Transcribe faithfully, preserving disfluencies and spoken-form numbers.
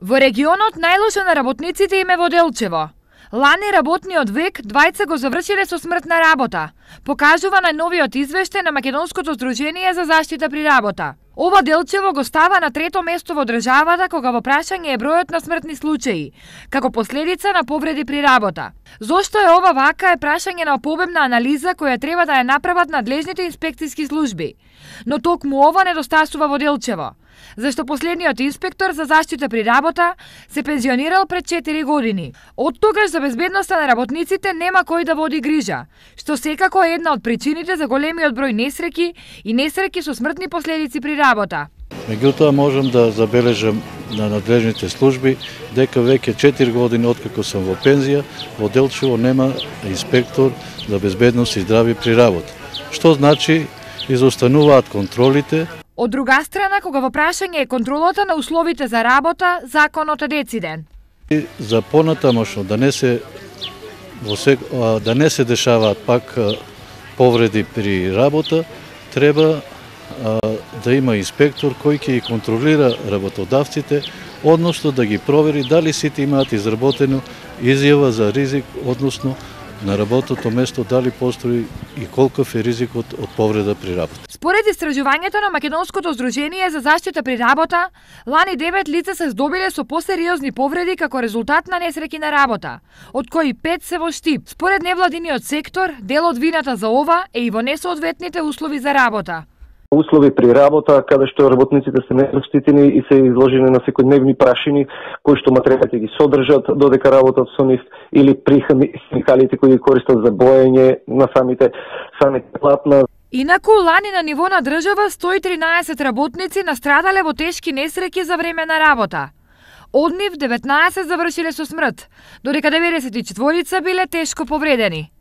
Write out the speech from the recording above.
Во регионот најлошо на работниците им е во Делчево. Лани работниот век двајца го завршиле со смртна работа, покажува најновиот извештај на Македонското здружение за заштита при работа. Ова Делчево го става на трето место во државата кога во прашање е бројот на смртни случаи, како последица на повреди при работа. Зошто е ова вака е прашање на побемна анализа која треба да ја направат надлежните инспекциски служби. Но токму ова недостасува во Делчево, зашто последниот инспектор за заштита при работа се пензионирал пред четири години. Од тогаш за безбедноста на работниците нема кој да води грижа, што секако е една од причините за големиот број несреќи и несреќи со смртни последици при работа. Меѓутоа можам да забележам на надлежните служби дека веќе четири години откако сум во пензија, во Делчево нема инспектор за безбедност и здравје при работа. Што значи изостануваат контролите. Од друга страна, кога во прашање е контролата на условите за работа, законот е дециден. За понатамошно да не се да не се дешаваат пак повреди при работа, треба да има инспектор кој ќе ги контролира работодавците, односно да ги провери дали сите имаат изработено изјава за ризик, односно на работното место дали постои и колков е ризикот од повреда при работа. Според истражувањето на Македонското здружение за заштита при работа, лани девет лица се здобиле со посериозни повреди како резултат на несреќи на работа, од кои пет се во Штип. Според невладиниот сектор, дел од вината за ова е и во несоодветните услови за работа. Услови при работа, каде што работниците се незаштитени и се изложени на секојдневни прашини, кои што материјалите ги содржат додека работат со нив, или при химикалите кои ги користат за боење на самите самите платна. Инаку, лани на ниво на држава сто и тринаесет работници настрадале во тешки несреќи за време на работа. Од нив деветнаесет завршиле со смрт, додека деветдесет и четири биле тешко повредени.